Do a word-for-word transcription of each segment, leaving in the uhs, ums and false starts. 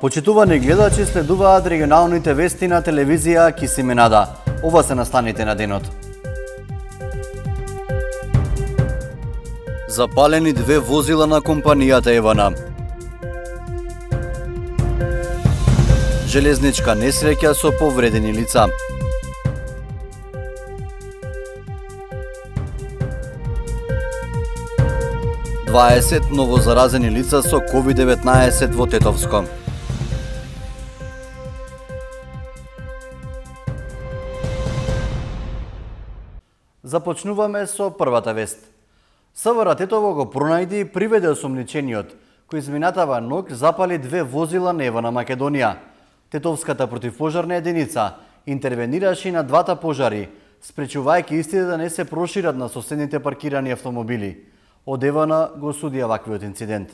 Почитувани гледачи, следуваат регионалните вести на телевизија Кисименада. Ова се настаните на денот. Запалени две возила на компанијата Евана. Железничка несреќа со повредени лица. дваесет новозаразени лица со ковид деветнаесет во Тетовско. Започнуваме со првата вест. СВР Тетово го пронајди и приведе осомничениот, кој изминатава ног запали две возила на Евана Македонија. Тетовската противпожарна единица интервенираше на двата пожари, спречувајќи истите да не се прошират на соседните паркирани автомобили. Од Евана го судија ваквиот инцидент.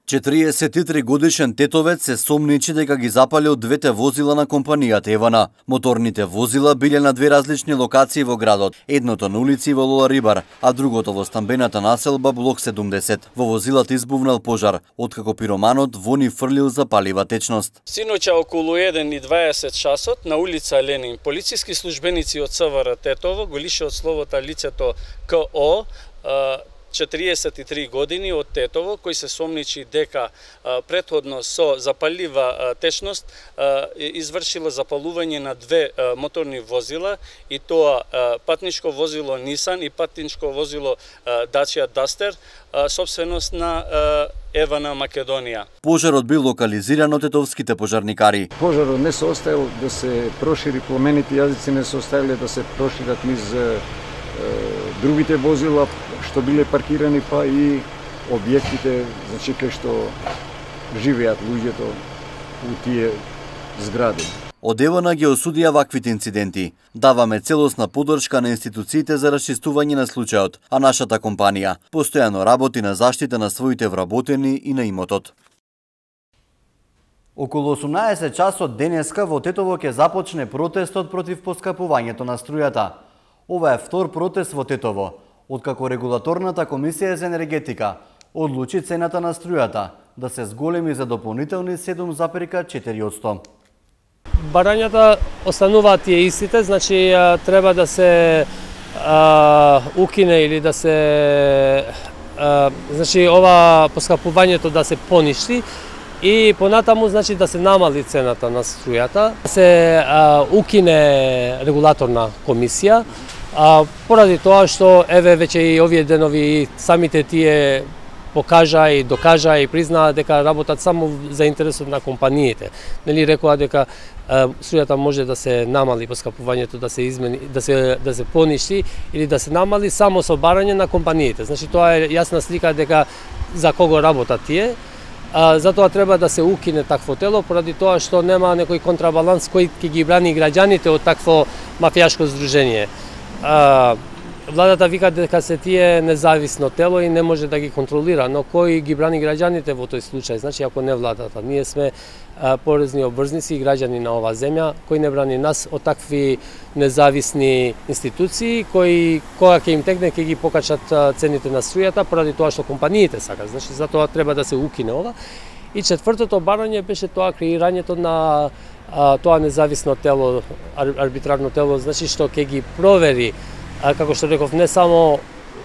четириесет и три годишен тетовец се сомничи дека ги запалил двете возила на компанијата Евана. Моторните возила биле на две различни локации во градот, едното на улици во Лола Рибар, а другото во стамбената населба блок седумдесет. Во возилата избувнал пожар, откако пироманот во ни фрлил запалива течност. Синоќа околу еден и дваесет часот на улица Ленин, полициски службеници од СВР Тетово го лише од словото лицето КО, четириесет и три години од Тетово, кој се сомничи дека а, претходно со запалива а, течност а, извршило запалување на две а, моторни возила, и тоа а, патничко возило Нисан и патничко возило а, Dacia Duster, а, собственост на а, Евана Македонија. Пожарот бил локализиран од тетовските пожарникари. Пожарот не се оставил да се прошири, пламените јазици не се оставиле да се прошират низ е, другите возила што биле паркирани, па и објектите, значи кај што живеат луѓето у тие згради. Од Евана ги осудија ваквите инциденти. Даваме целосна поддршка на институциите за расчистување на случајот, а нашата компанија постојано работи на заштита на своите вработени и на имотот. Околу осумнаесет часот денеска во Тетово ќе започне протестот против поскапувањето на струјата. Ова е втор протест во Тетово, откако Регулаторната комисија за енергетика одлучи цената на струјата да се зголеми за дополнителни седум запирка четири одсто. Барањата остануваат тие истите, значи треба да се а, укине или да се а, значи ова поскапувањето да се поништи и понатаму значи да се намали цената на струјата, да се а, укине регулаторна комисија. А, поради тоа што еве веќе и овие денови самите тие покажа и докажа и признаа дека работат само за интересот на компаниите. Нели рекоа дека струјата може да се намали, поскапувањето да се измени, да се да се поништи или да се намали само со барање на компаниите. Значи тоа е јасна слика дека за кого работат тие. А, затоа треба да се укине такво тело, поради тоа што нема некој контрабаланс кој ќе ги брани граѓаните од такво мафијашко здружение. А, владата вика дека се тие независно тело и не може да ги контролира, но кој ги брани граѓаните во тој случај? Значи, ако не владата, ние сме а, порезни обврзници и граѓани на оваа земја, кој не брани нас од такви независни институции, кои кога ќе им текне ќе ги покачат цените на струјата, поради тоа што компаниите сакат. Значи, затоа треба да се укине ова. И четвртото барање беше тоа креирањето на а, тоа независно тело, арбитрарно тело, значи што ќе ги провери, а, како што реков, не само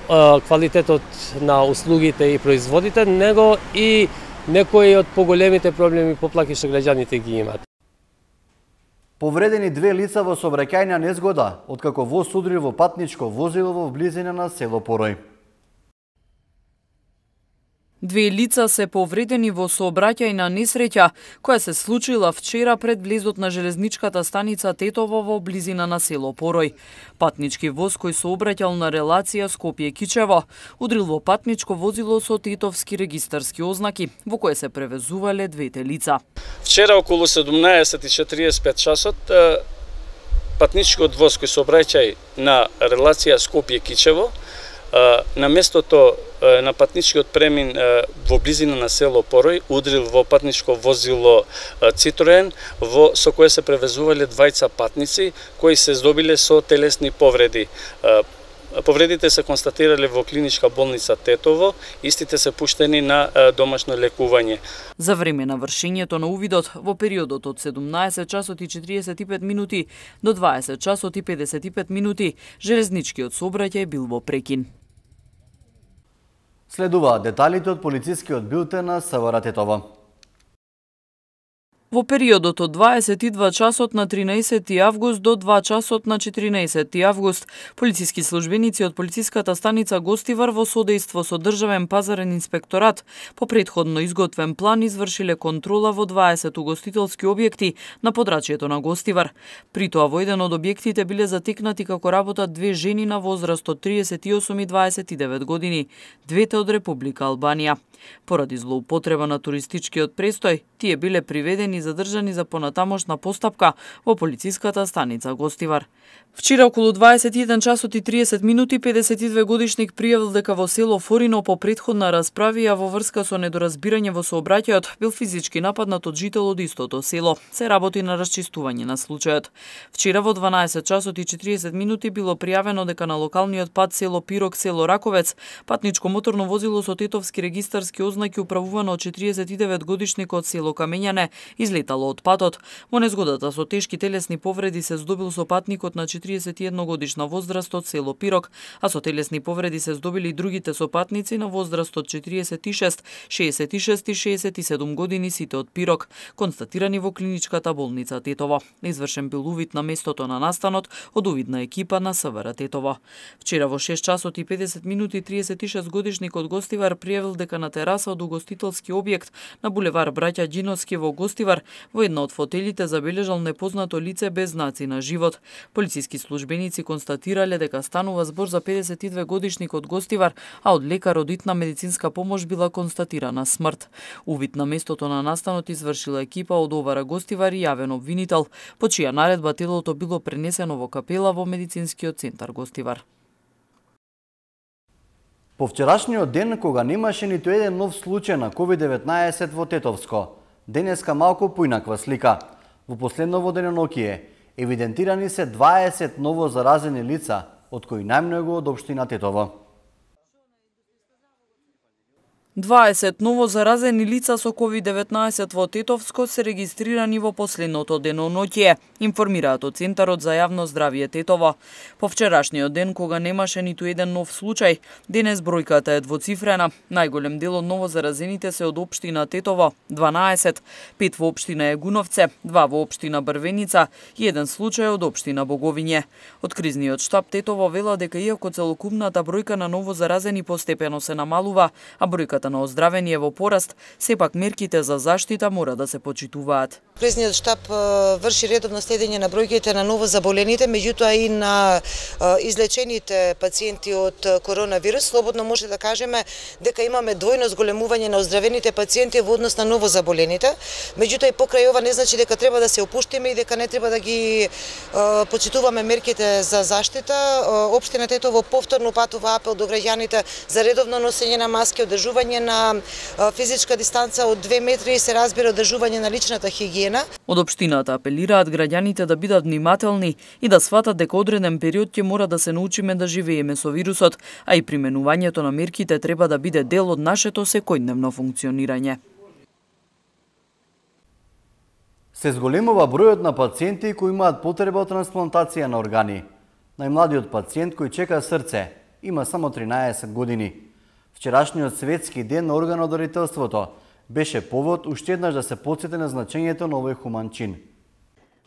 а, квалитетот на услугите и производите, него и некои од поголемите проблеми поплаки што граѓаните ги имаат. Повредени две лица во сообраќајна незгода, откако воз удрил во патничко возило во близина на село Порој. Две лица се повредени во сообраќајна несреќа која се случила вчера пред влезот на железничката станица Тетово во близина на село Порој. Патнички воз кој сообраќал на релација Скопје-Кичево удрил во патничко возило со тетовски регистарски ознаки, во кое се превезувале двете лица. Вчера околу седумнаесет и четириесет и пет часот патничкиот воз кој сообраќај на релација Скопје-Кичево на местото на патничкиот премин во близина на село Порој удрил во патничко возило Citroen, во со кое се превезувале двајца патници кои се здобиле со телесни повреди. Повредите се констатирале во клиничка болница Тетово, истите се пуштени на домашно лекување. За време на вршењето на увидот во периодот од седумнаесет часот и четириесет и пет минути до дваесет часот и педесет и пет минути железничкиот сообраќај бил во прекин. Следуваат деталите од полицискиот билтен на СВР Тетово. Во периодот од дваесет и два часот на тринаесети август до два часот на четиринаесети август, полициски службеници од полициската станица Гостивар во содејство со Државен пазарен инспекторат по претходно изготвен план извршиле контрола во дваесет угостителски објекти на подрачјето на Гостивар. При тоа во еден од објектите биле затекнати како работат две жени на возраст од триесет и осум и дваесет и девет години, двете од Република Албанија. Поради злоупотреба на туристичкиот престој, тие биле приведени и задржани за понатамошна постапка во полициската станица Гостивар. Вчера околу дваесет и еден часот и триесет минути педесет и две годишник пријавил дека во село Форино по претходна расправија во врска со недоразбирање во сообраќајот бил физички нападнат од жител од истото село. Се работи на расчистување на случајот. Вчера во дванаесет часот и четириесет минути било пријавено дека на локалниот пат село Пирок, село Раковец, патничко моторно возило со тетовски регистарски ознаки управувано од четириесет и девет годишник од село Камењане излетало од патот. Во незгодата со тешки телесни повреди се здобил со патникот на четириесет и една годишна возраст од село Пирок, а со телесни повреди се здобили и другите сопатници на возраст од четириесет и шест, шеесет и шест и шеесет и седум години, сите од Пирок, констатирани во клиничката болница Тетово. Извршен бил увид на местото на настанот од увидна екипа на СВР Тетово. Вчера во шест часот и педесет минути триесет и шест годишник од Гостивар пријавил дека на тераса од угостителски објект на булевар Браќа Ѓиновски во Гостивар во една од фотелите забележал непознато лице без знаци на живот. Полициски службеници констатирале дека станува збор за педесет и две годишник од Гостивар, а од лекар од итна медицинска помош била констатирана смрт. Увид на местото на настанот извршила екипа од ОВР Гостивар и јавен обвинител, по чија наредба телото било пренесено во капела во медицинскиот центар Гостивар. По вчерашниот ден, кога немаше ниту еден нов случај на ковид деветнаесет во Тетовско, денеска малку поинаква слика. Во последново денонокие евидентирани се дваесет ново заразени лица, од кои најмногу од општина Тетово. дваесет ново заразени лица со ковид деветнаесет во Тетовско се регистрирани во последното деноноќие, информираат од Центарот за јавно здравје Тетово. По вчерашниот ден, кога немаше ниту еден нов случај, денес бројката е двоцифрена. Најголем дел од ново заразените се од општина Тетово, дванаесет, пет во општина Егуновце, два во општина Брвеница и еден случај од општина Боговиње. Од кризниот штаб Тетово вела дека иако целокупната бројка на ново заразени постепено се намалува, а бројката на оздравени е во пораст, сепак мерките за заштита мора да се почитуваат. Кризниот штаб врши редовно следење на бројките на ново заболените, меѓутоа и на излечените пациенти од коронавирус. Слободно може да кажеме дека имаме двојно зголемување на оздравените пациенти во однос на ново заболените. Меѓутоа и покрај ова не значи дека треба да се опуштиме и дека не треба да ги почитуваме мерките за заштита. Општина Тетово повторно патува апел до граѓаните за редовно носење на маски, одржување на физичка дистанца од две метри и се разбира одржување на личната хигиена. Од општината апелираат граѓаните да бидат внимателни и да сватат дека одреден период ќе мора да се научиме да живееме со вирусот, а и применувањето на мерките треба да биде дел од нашето секојдневно функционирање. Се зголемува бројот на пациенти кои имаат потреба од трансплантација на органи. Најмладиот пациент кој чека срце има само тринаесет години. Вчерашниот светски ден на органодарителството беше повод уште еднаш да се потсети на значењето на овој хуман чин.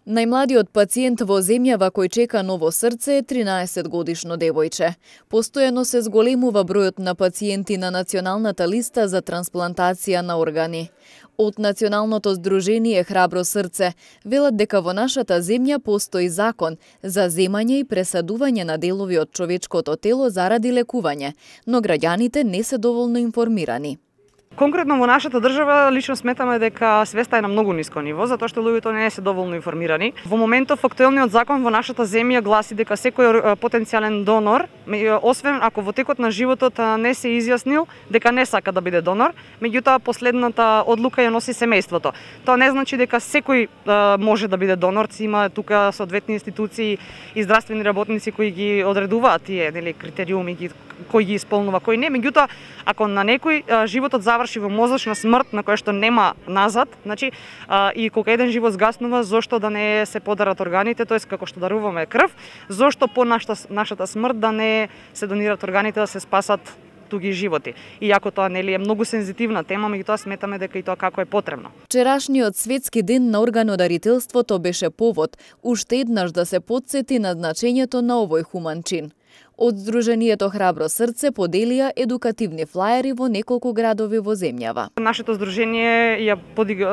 Најмладиот пациент во земјава кој чека ново срце е тринаесет годишно девојче. Постојано се зголемува бројот на пациенти на националната листа за трансплантација на органи. Од Националното здружение Храбро срце велат дека во нашата земја постои закон за земање и пресадување на делови од човечкото тело заради лекување, но граѓаните не се доволно информирани. Конкретно во нашата држава лично сметаме дека свеста е на многу ниско ниво, затоа што луѓето не се доволно информирани. Во моментов актуелниот закон во нашата земја гласи дека секој потенцијален донор, освен ако во текот на животот не се изјаснил дека не сака да биде донор, меѓутоа последната одлука ја носи семејството. Тоа не значи дека секој може да биде донор, има тука соодветни институции и здравствени работници кои ги одредуваат тие, нели, критериуми кој ги исполнува, кој не. Меѓутоа, ако на некој животот заврши во мозочна смрт на која што нема назад, значи и кога еден живот згаснува, зошто да не се подарат органите, тоест како што даруваме крв, зошто по нашата нашата смрт да не се донират органите да се спасат туги животи. Иако тоа нели е многу сензитивна тема, меѓутоа сметаме дека и тоа како е потребно. Вчерашниот светски ден на органодарителството беше повод уште еднаш да се потсети на значењето на овој хуман чин. Од Сдруженијето Храбро срце поделија едукативни флаери во неколку градови во земјава. Нашето здружение ја подиг...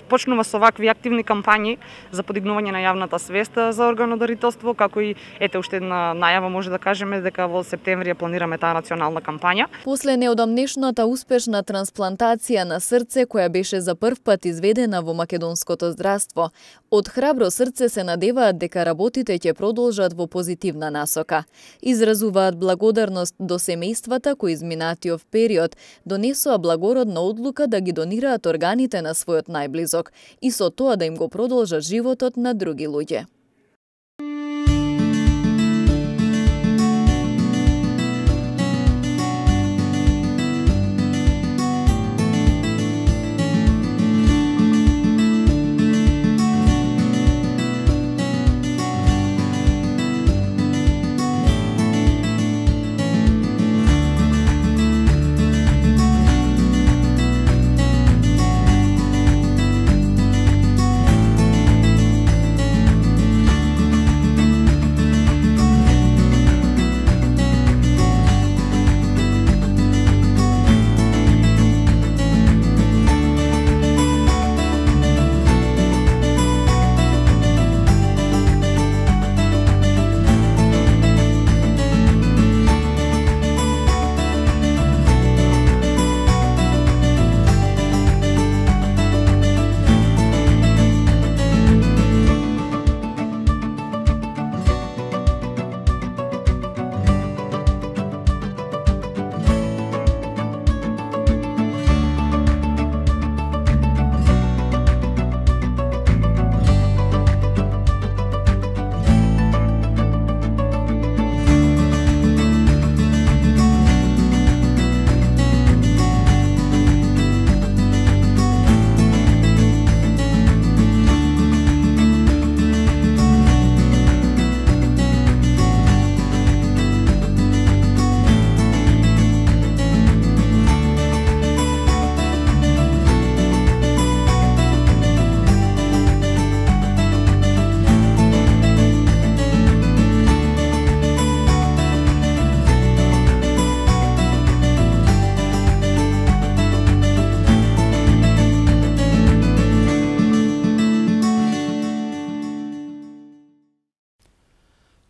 почнува со вакви активни кампањи за подигнување на јавната свест за органодарителство, како и ете уште една најава може да кажеме дека во септември ја планираме таа национална кампања. После неодамнешната успешна трансплантација на срце која беше за прв пат изведена во македонското здравство, од Храбро срце се надеваат дека работите ќе продолжат во позитивна насока. Изразуваат благодарност до семејствата кои изминатиот период донесоа благородна одлука да ги донираат органите на својот најблизок и со тоа да им го продолжат животот на други луѓе.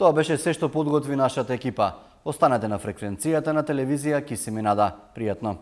Тоа беше се што подготви нашата екипа. Останете на фреквенцијата на телевизија Кисиминада. Пријатно!